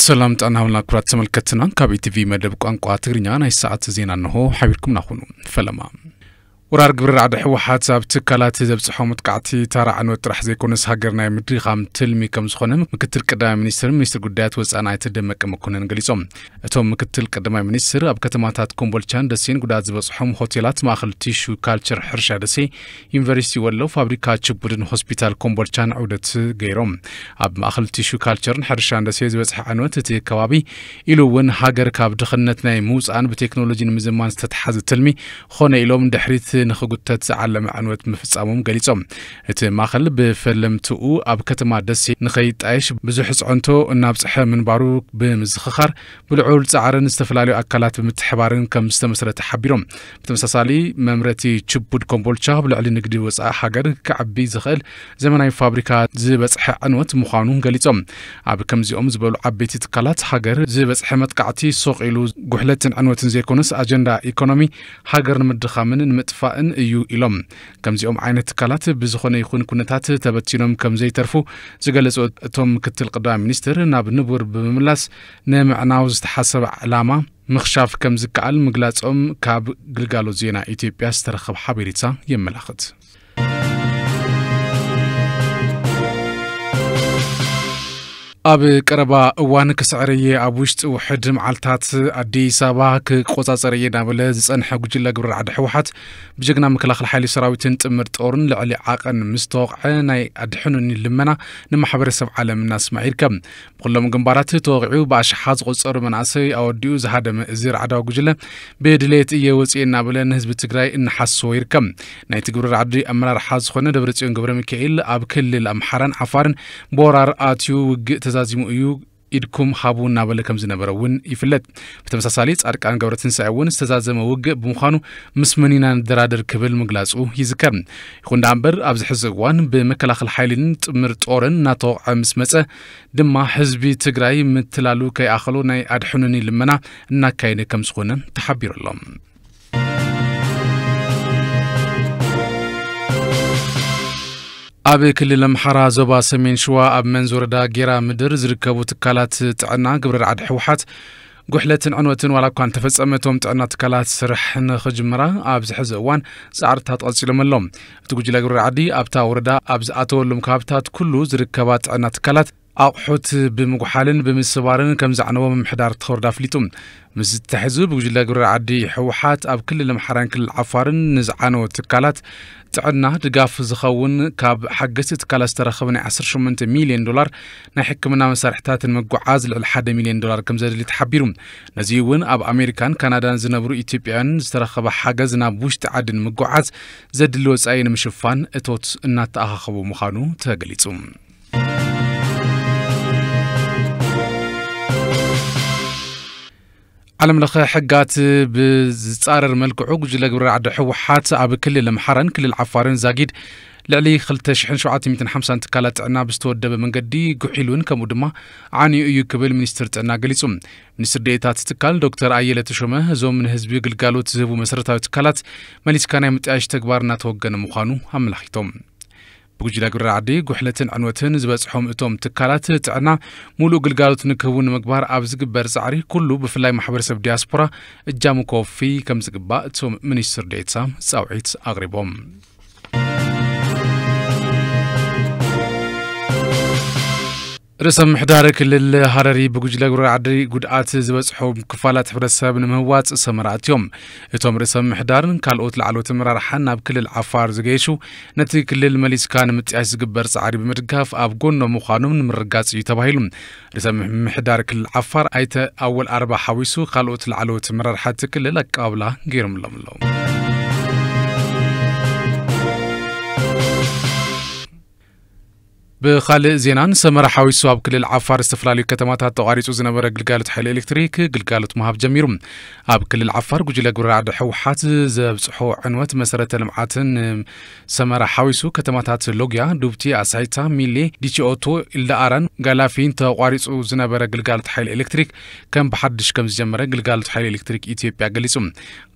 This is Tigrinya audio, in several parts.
ሰላም ጥዕና ሃብልና ክቡራት ተመልከትና፣ ካብ ኢቲቪ መደብ ቋንቋ ትግርኛ ናይ ሰዓት ዜና እንሆ ሓቢርኩምና ኩኑ። ፈለማ። ወራር ግብረ ራዕዲ ህወሓት ኣብ ትካላት ዘብጽሖ መጥቃዕቲ ተራ ዕንወት ጥራሕ ዘይኮነስ ሃገር ናይ ምድኻም ትልሚ ከም ዝኾነ ምክትል ቀዳማይ ሚኒስትር ሚኒስትር ጉዳያት ወጻኢ ኣይተ ደመቀ መኮነን ገሊጾም። እቶም ምክትል ቀዳማይ ሚኒስትር ኣብ ከተማታት ኮምቦልቻን ደሴን ጉዳት ዝበጽሖም ሆቴላት፣ ማእኸል ቲሹ ካልቸር፣ ሕርሻ ደሴ፣ ዩኒቨርሲቲ ወሎ፣ ፋብሪካ ችቡድን ሆስፒታል ኮምቦልቻን ዑደት ገይሮም። ኣብ ማእኸል ቲሹ ካልቸርን ሕርሻን ደሴ ዝበጽሐ ዕንወት እቲ ከባቢ ኢሉ እውን ሃገር ካብ ድኽነት ናይ ምውጻእን ብቴክኖሎጂ ንምዝማን ዝተተሓዘ ትልሚ ኾነ ኢሎም ድሕሪት ንኽጉተት ዝዓለመ ዕንወት ምፍጻሞም ገሊጾም። እቲ ማእኸል ብፈለምትኡ ኣብ ከተማ ደሴ ንኸይጣየሽ ብዙሕ ጽዕንቶ እናብጽሐ ምንባሩ ብምዝኽኻር፣ ብልዑል ጻዕርን ዝተፈላለዩ ኣካላት ብምትሕባርን ከም ዝተመስረተ ሓቢሮም። ብተመሳሳሊ፣ መምረቲ ችቡድ ኮምቦልቻ ብልዕሊ ንግዲ ወጻኢ ሃገር ክዓቢ ዝኽእል ዘመናዊ ፋብሪካ ዝበጽሐ ዕንወት ምዃኑ ገሊጾም። ኣብ ከምዚኦም ዝበሉ ዓበይቲ ትካላት ሃገር ዝበጽሐ መጥቃዕቲ ሱቕ ኢሉ ጉሕለትን ዕንወትን ዘይኮነስ፣ ኣጀንዳ ኢኮኖሚ ሃገር ንምድኻምን ንምጥፋእን እዩ ኢሎም። ከምዚኦም ዓይነት ትካላት ብዝኾነ ይኹን ኩነታት ተበቲኖም ከም ዘይተርፉ ዝገለጹ እቶም ምክትል ቀዳማይ ሚኒስትር፣ ናብ ንቡር ብምምላስ ንምዕናው ዝተሓሰበ ዕላማ ምኽሻፍ ከም ዝከኣል ምግላጾም ካብ ግልጋሎት ዜና ኢትዮጵያ ዝተረኸበ ሓበሬታ የመላኽት። ኣብ ቀረባ እዋን ክስዕር እየ፣ ኣብ ውሽጢ ውሕድ መዓልታት ኣዲስ ኣበባ ክቆጻጸር እየ እናበለ ዝጸንሐ ጉጅለ ግብረ ራዕዲ ህወሓት፣ ብጀግና መከላኸሊ ሓይሊ ሰራዊትን ጥምር ጦርን ልዕሊ ዓቐን ምስ ተወቕዐ፣ ናይ ኣድሕኑኒ ልመና ንማሕበረሰብ ዓለም እናስማዕ ይርከብ። ብኩሎም ግንባራት ተወቒዑ ብኣሽሓት ዝቑጸሩ መናእሰይ ኣወዲኡ ዝሃደመ እዚ ራዕዳዊ ጉጅለ፣ ብድሌት እየ ወፂኤ እናበለ ንህዝቢ ትግራይ እናሓሰወ ይርከብ። ናይቲ ግብረ ራዕዲ ኣመራርሓ ዝኾነ ደብረፅዮን ገብረ ሚካኤል፣ ኣብ ክልል ኣምሓራን ዓፋርን ብወራር ኣትዩ ውግእ ተዛዚሙ እዩ፣ ኢድኩም ሃቡ እናበለ ከም ዝነበረ እውን ይፍለጥ። ብተመሳሳሊ፣ ጻድቃን ገብረትንሳኤ እውን ዝተዛዘመ ውግእ ብምዃኑ፣ ምስ መን ኢና ንደራደር ክብል ምግላጹ ይዝከር። ይኹን ደኣ እምበር፣ ኣብዚ ሕዚ እዋን ብመከላኸሊ ሓይልን ጥምር ጦርን እናተወቕዐ ምስ መጸ ድማ፣ ህዝቢ ትግራይ ምትላሉ ከይኣኸሎ ናይ ኣድሕኑኒ ልመና እናካየደ ከም ዝኾነ ተሓቢሩ ኣሎ። ኣብ ክልል ኣምሓራ ዞባ ሰሜን ሸዋ ኣብ መንዝ ወረዳ ጌራ ምድር ዝርከቡ ትካላት ጥዕና ግብረ ራዕዲ ህወሓት ጉሕለትን ዕንወትን ዋላ እኳ እንተፈጸመ፣ እቶም ጥዕና ትካላት ስራሕ ንኽጅምራ ኣብዚ ሕዚ እዋን ጻዕርታት ቀጺሎም ኣለዉ። እቲ ጉጅለ ግብረ ራዕዲ ኣብታ ወረዳ ኣብ ዝኣተወሎም ከባብታት ኩሉ ዝርከባ ጥዕና ትካላት ኣቑሑት ብምጉሓልን ብምስባርን ከም ዘዕነዎ ምምሕዳር እቲ ወረዳ ኣፍሊጡ። ምስ ዝተሕዙ ብጉጅለ ግብረ ራዕዲ ህወሓት ኣብ ክልል ኣምሓራን ክልል ዓፋርን ንዝዓነወ ትካላት ጥዕና ድጋፍ ዝኸውን ካብ ሓገዝቲ ትካላት ዝተረኸበ ናይ ዓሰርተ ሸሞንተ ሚልዮን ዶላር ናይ ሕክምና መሳርሕታት ንምጉዓዝ ልዕሊ ሓደ ሚልዮን ዶላር ከም ዘድሊ ተሓቢሩ። ነዚ እውን ኣብ ኣሜሪካን ካናዳን ዝነብሩ ኢትዮጵያውያን ዝተረኸበ ሓገዝ ናብ ውሽጢ ዓዲ ንምጉዓዝ ዘድሊ ወጻኢ ንምሽፋን እቶት እናተኣኻኸቡ ምዃኑ ተገሊጹ። ዓለም ለኸ ሕጋት ብዝጻረር መልክዑ ጉጅለ ግብረ ራዕዲ ህወሓት ኣብ ክልል ኣምሓራን ክልል ዓፋርን ዛጊድ ልዕሊ ክልተ ሽሕን ሸውዓተ ሚእትን ሓምሳን ትካላት ጥዕና ብዝተወደበ መንገዲ ጉሒሉን ከምኡ ድማ ዓንዩ እዩ ክብል ሚኒስትር ጥዕና ገሊጹ። ሚኒስትር ዴኤታ እቲ ትካል ዶክተር ኣየለ ተሾመ፣ እዞም ንህዝቢ ግልጋሎት ዝህቡ መሰረታዊ ትካላት መሊስካ ናይ ምጥያሽ ተግባር እናተወገነ ምዃኑ ኣመላኺቶም። ብጉጅለ ግብረ ራዕዲ ጉሕለትን ዕንወትን ዝበጽሖም እቶም ትካላት ጥዕና ሙሉእ ግልጋሎት ንክህቡ ንምግባር ኣብ ዝግበር ጻዕሪ ኩሉ ብፍላይ ማሕበረሰብ ዲያስፖራ እጃሙ ከወፊ ከም ዝግባእ እቶም ሚኒስትር ዴኤታ ጻውዒት ኣቕሪቦም። ርእሰ ምምሕዳር ክልል ሃረሪ ብጉጅለ ግብረ ራዕዲ ጉድኣት ዝበጽሖም ክፋላት ሕብረተሰብ ንምህዋጽ ሰመራ ኣትዮም። እቶም ርእሰ ምምሕዳርን ካልኦት ላዕለዎት ኣመራርሓን ናብ ክልል ዓፋር ዝገየሹ፣ ነቲ ክልል መሊስካ ንምጥያሽ ዝግበር ጻዕሪ ብምድጋፍ ኣብ ጎኖም ምዃኖም ንምርጋጽ እዩ ተባሂሉ። ርእሰ ምምሕዳር ክልል ዓፋር ኣይተ ኣወል ኣርባ ሓዊሱ ካልኦት ላዕለዎት ኣመራርሓ እቲ ክልል ኣቀባብላ ገይሮምሎም ኣለዉ። ብኻልእ ዜናን፣ ሰመራ ሓዊሱ ኣብ ክልል ዓፋር ዝተፈላለዩ ከተማታት ተቋሪጹ ዝነበረ ግልጋሎት ሓይሊ ኤሌክትሪክ ግልጋሎት ምሃብ ጀሚሩ። ኣብ ክልል ዓፋር ጉጅለ ግብረ ራዕዲ ህወሓት ዘብጽሖ ዕንወት መሰረተ ልምዓትን ሰመራ ሓዊሱ ከተማታት ሎጊያ፣ ዱብቲ፣ ኣሳይታ፣ ሚሌ፣ ዲቺኦቶ፣ ኢልዳኣራን ጋላፊን ተቋሪጹ ዝነበረ ግልጋሎት ሓይሊ ኤሌክትሪክ ከም ብሓድሽ ከም ዝጀመረ ግልጋሎት ሓይሊ ኤሌክትሪክ ኢትዮጵያ ገሊጹ።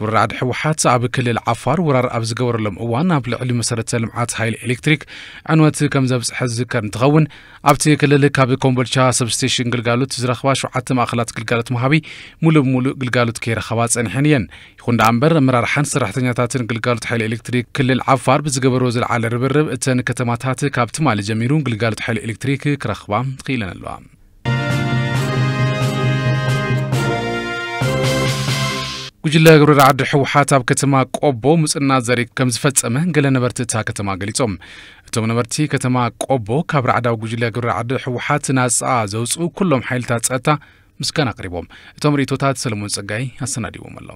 ግብረ ራዕዲ ህወሓት ኣብ ክልል ዓፋር ወራር ኣብ ዝገበረሎም እዋን ኣብ ልዕሊ መሰረተ ልምዓት ሓይሊ ኤሌክትሪክ ዕንወት ከም ዘብጽሐ ዝዝከር እንትኸውን፣ ኣብቲ ክልል ካብ ኮምቦልቻ ሰብስቴሽን ግልጋሎት ዝረኽባ ሸውዓተ ማእኸላት ግልጋሎት መሃቢ ሙሉእ ብሙሉእ ግልጋሎት ከይረኸባ ጸኒሐን እየን። ይኹን ደኣ እምበር፣ ኣመራርሓን ሰራሕተኛታትን ግልጋሎት ሓይሊ ኤሌክትሪክ ክልል ዓፋር ብዝገበሮ ዝለዓለ ርብርብ፣ እተን ከተማታት ካብ ትማሊ ጀሚሩ ግልጋሎት ሓይሊ ኤሌክትሪክ ክረኽባ ክኢለን ኣለዋ። ጉጅለ ግብረ ራዕዲ ህወሓት ኣብ ከተማ ቆቦ ምጽና ዘርኢ ከም ዝፈጸመ ገለ ነበርቲ እታ ከተማ ገሊጾም። እቶም ነበርቲ፣ ከተማ ቆቦ ካብ ራዕዳዊ ጉጅለ ግብረ ራዕዲ ህወሓት ናጻ ዘውጽኡ ኩሎም ሓይልታት ጸጥታ ምስጋና ኣቕሪቦም። እቶም ርእይቶታት ሰለሞን ጸጋይ ኣሰናዲዎም ኣሎ።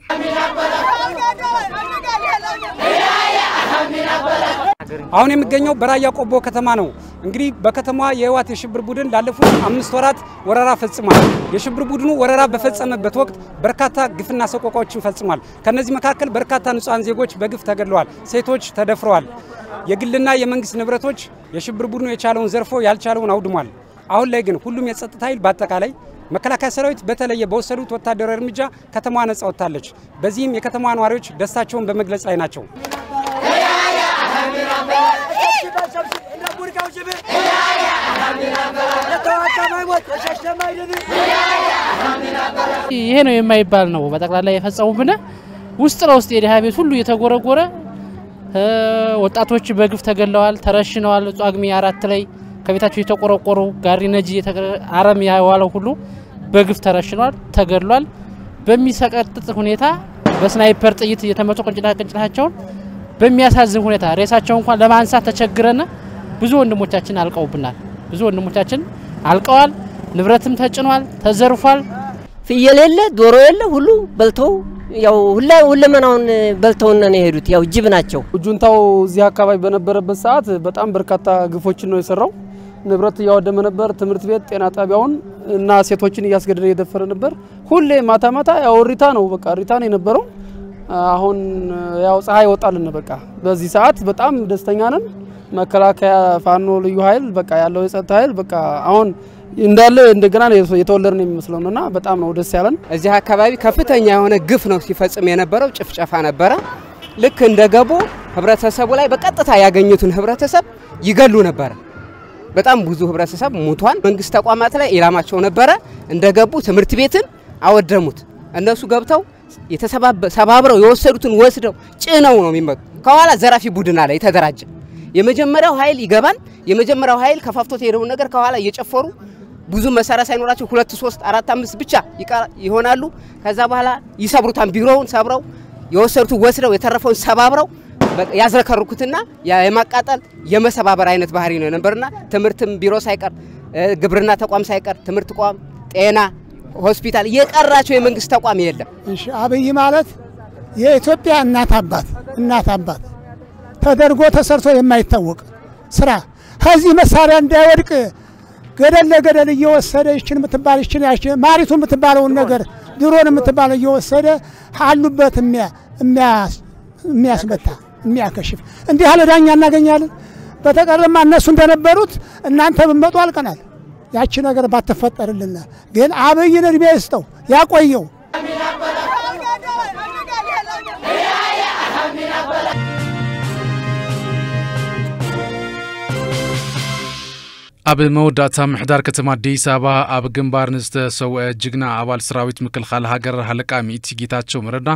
አሁን የሚገኘው በራያ ቆቦ ከተማ ነው። እንግዲህ በከተማዋ የህወሓት የሽብር ቡድን ላለፉት አምስት ወራት ወረራ ፈጽሟል። የሽብር ቡድኑ ወረራ በፈጸመበት ወቅት በርካታ ግፍና ሰቆቃዎችን ፈጽሟል። ከነዚህ መካከል በርካታ ንጹሐን ዜጎች በግፍ ተገድለዋል፣ ሴቶች ተደፍረዋል። የግልና የመንግስት ንብረቶች፣ የሽብር ቡድኑ የቻለውን ዘርፎ፣ ያልቻለውን አውድሟል። አሁን ላይ ግን ሁሉም የጸጥታ ኃይል፣ በአጠቃላይ መከላከያ ሰራዊት በተለየ በወሰዱት ወታደራዊ እርምጃ ከተማዋ ነጻ ወጥታለች። በዚህም የከተማዋ ነዋሪዎች ደስታቸውን በመግለጽ ላይ ናቸው። ይሄ ነው የማይባል ነው በጠቅላላ የፈጸሙብን። ውስጥ ለውስጥ የድሃ ቤት ሁሉ እየተጎረጎረ፣ ወጣቶች በግፍ ተገለዋል፣ ተረሽነዋል። ጳጉሜ አራት ላይ ከቤታቸው የተቆረቆሩ፣ ጋሪ ነጂ፣ አረም ያዋለው ሁሉ በግፍ ተረሽኗል፣ ተገድሏል። በሚሰቀጥጥ ሁኔታ በስናይፐር ጥይት እየተመቱ ቅንጭላ ቅንጭላቸውን በሚያሳዝን ሁኔታ ሬሳቸው እንኳን ለማንሳት ተቸግረን፣ ብዙ ወንድሞቻችን አልቀውብናል። ብዙ ወንድሞቻችን አልቀዋል። ንብረትም ተጭኗል፣ ተዘርፏል። ፍየል የለ፣ ዶሮ የለ፣ ሁሉ በልተው፣ ያው ሁላ ሁለመናውን በልተውና ነው የሄዱት። ያው ጅብ ናቸው። ጁንታው እዚህ አካባቢ በነበረበት ሰዓት በጣም በርካታ ግፎችን ነው የሰራው። ንብረት እያወደመ ነበር። ትምህርት ቤት፣ ጤና ጣቢያውን እና ሴቶችን እያስገደደ እየደፈረ ነበር። ሁሌ ማታ ማታ ያው እሪታ ነው፣ በቃ እሪታ ነው የነበረው። አሁን ያው ፀሐይ ወጣልን። በቃ በዚህ ሰዓት በጣም ደስተኛ ነን። መከላከያ፣ ፋኖ፣ ልዩ ኃይል፣ በቃ ያለው የጸጥታ ኃይል በቃ አሁን እንዳለ እንደገና ነው የተወለድን የሚመስለው ነውና በጣም ነው ደስ ያለን። እዚህ አካባቢ ከፍተኛ የሆነ ግፍ ነው ሲፈጽም የነበረው፣ ጭፍጨፋ ነበረ። ልክ እንደገቡ ህብረተሰቡ ላይ በቀጥታ ያገኙትን ህብረተሰብ ይገሉ ነበረ። በጣም ብዙ ህብረተሰብ ሙቷል። መንግስት ተቋማት ላይ ኢላማቸው ነበረ። እንደገቡ ትምህርት ቤትን አወደሙት። እነሱ ገብተው የተሰባበ- ሰባብረው የወሰዱትን ወስደው ጭነው ነው የሚመጡ። ከኋላ ዘራፊ ቡድን አለ የተደራጀ። የመጀመሪያው ኃይል ይገባል። የመጀመሪያው ኃይል ከፋፍቶት የሄደውን ነገር ከኋላ እየጨፈሩ ብዙ መሳሪያ ሳይኖራቸው ሁለት፣ ሶስት፣ አራት፣ አምስት ብቻ ይቀራ- ይሆናሉ። ከዛ በኋላ ይሰብሩታል። ቢሮውን ሰብረው የወሰዱትን ወስደው የተረፈውን ሰባብረው በቃ ያዝረከርኩትና ያ- የማቃጠል የመሰባበር አይነት ባህሪ ነው የነበርና ትምህርትም ቢሮ ሳይቀር እ፣ ግብርና ተቋም ሳይቀር ትምህርት ተቋም፣ ጤና፣ ሆስፒታል የቀራቸው የመንግስት ተቋም የለም። እሺ፣ አብይ ማለት የኢትዮጵያ እናት አባት እናት አባት ተደርጎ ተሰርቶ የማይታወቅ ስራ ከዚህ መሳሪያ እንዳይወድቅ ገደል ለገደል እየወሰደ ይችን የምትባል ይችን ያችን ማሪቱ የምትባለውን ነገር ድሮን የምትባለው እየወሰደ አሉበት የሚያ- የሚያስ- የሚያስመታ የሚያከሽፍ እንዲህ ያለ ዳኛ እናገኛለን። በተቀረማ እነሱ እንደነበሩት እናንተ ብትመጡ አልቀናል። ያቺ ነገር ባትፈጠርልን ግን አብይን እድሜ ይስጠው ያቆየው። ኣብ መወዳእታ ምሕዳር ከተማ ኣዲስ ኣበባ ኣብ ግንባር ንዝተሰውአ ጅግና ኣባል ሰራዊት ምክልኻል ሃገር ሃለቃ ሚእቲ ጌታቸው መረዳ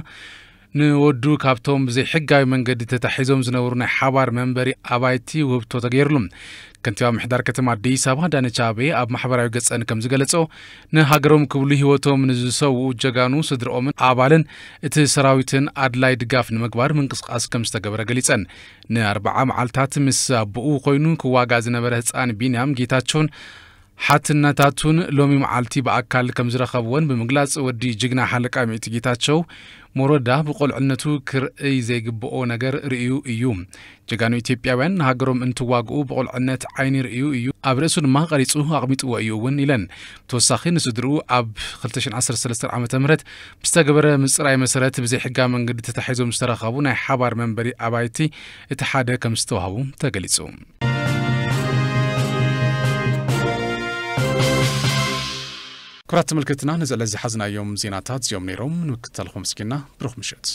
ንወዱ ካብቶም ብዘይሕጋዊ መንገዲ ተታሒዞም ዝነበሩ ናይ ሓባር መንበሪ ኣባይቲ ውህብቶ ተገይርሉ። ከንቲባ ምሕዳር ከተማ ኣዲስ ኣበባ ኣዳነች ኣቤቤ ኣብ ማሕበራዊ ገጸን ከም ዝገለጸ ንሃገሮም ክብሉ ህይወቶም ንዝሰውኡ ጀጋኑ ስድርኦምን ኣባልን እቲ ሰራዊትን ኣድላይ ድጋፍ ንምግባር ምንቅስቃስ ከም ዝተገበረ ገሊጸን። ንኣርብዓ መዓልታት ምስ ኣቦኡ ኮይኑ ክዋጋ ዝነበረ ህጻን ቢንያም ጌታቸውን ሓትነታቱን ሎሚ መዓልቲ ብኣካል ከም ዝረኸብዎን ብምግላጽ ወዲ ጅግና ሓለቃ ሚእቲ ጌታቸው ሞረዳ ብቆልዕነቱ ክርእይ ዘይግብኦ ነገር ርእዩ እዩ። ጀጋኑ ኢትዮጵያውያን ንሃገሮም እንትዋግኡ ብቆልዕነት ዓይኒ ርእዩ እዩ፣ ኣብ ርእሱ ድማ ቀሪጹ ኣቕሚጥዎ እዩ እውን ኢለን። ብተወሳኺ ንስድርኡ ኣብ ክልተ ሽሕን ዓሰርተ ሰለስተን ዓመተ ምህረት ብዝተገበረ ምጽራይ መሰረት ብዘይሕጋዊ መንገዲ ተታሒዞም ዝተረኸቡ ናይ ሓባር መንበሪ ኣባይቲ እቲ ሓደ ከም ዝተዋህቡ ተገሊጹ። ክቡራት ተመልከትና፣ ነዚ ዕለት ዝሓዝናዮም ዜናታት እዚኦም ነይሮም። ንምክትታልኩም ኣመስጊና፣ ብሩኽ ምሸት።